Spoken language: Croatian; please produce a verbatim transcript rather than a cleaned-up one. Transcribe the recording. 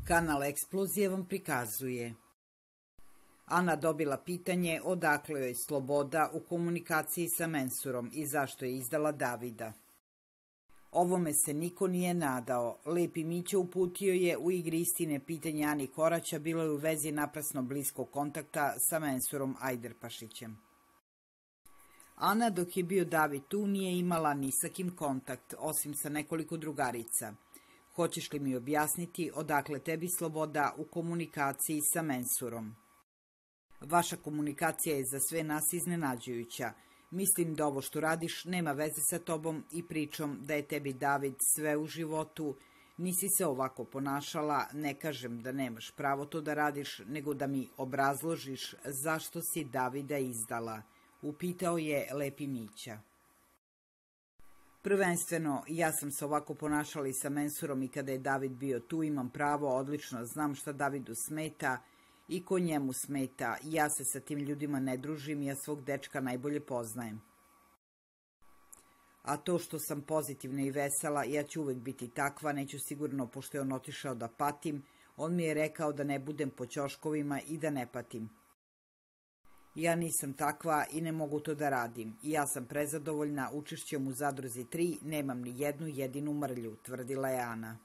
Kanal Eksplozije vam prikazuje. Ana dobila pitanje odakle joj sloboda u komunikaciji sa mensurom i zašto je izdala Davida. Ovome se niko nije nadao. Lepi Mića uputio je u igri istine pitanje Ani Koraća bilo je u vezi naprasno bliskog kontakta sa mensurom Ajderpašićem. Ana dok je bio David tu nije imala ni sa kim kontakt, osim sa nekoliko drugarica. Hoćeš li mi objasniti odakle tebi sloboda u komunikaciji sa mensurom? Vaša komunikacija je za sve nas iznenađujuća. Mislim da ovo što radiš nema veze sa tobom i pričom da je tebi David sve u životu. Nisi se ovako ponašala, ne kažem da nemaš pravo to da radiš, nego da mi obrazložiš zašto si Davida izdala, upitao je Lepi Mića. Prvenstveno, ja sam se ovako ponašala i sa mensurom i kada je David bio tu, imam pravo, odlično znam šta Davidu smeta i ko njemu smeta. Ja se sa tim ljudima ne družim, ja svog dečka najbolje poznajem. A to što sam pozitivna i vesela, ja ću uvek biti takva, neću sigurno, pošto je on otišao da patim, on mi je rekao da ne budem po ćoškovima i da ne patim. Ja nisam takva i ne mogu to da radim. Ja sam prezadovoljna učešćem u Zadruzi tri, nemam ni jednu jedinu mrlju, tvrdila je Ana.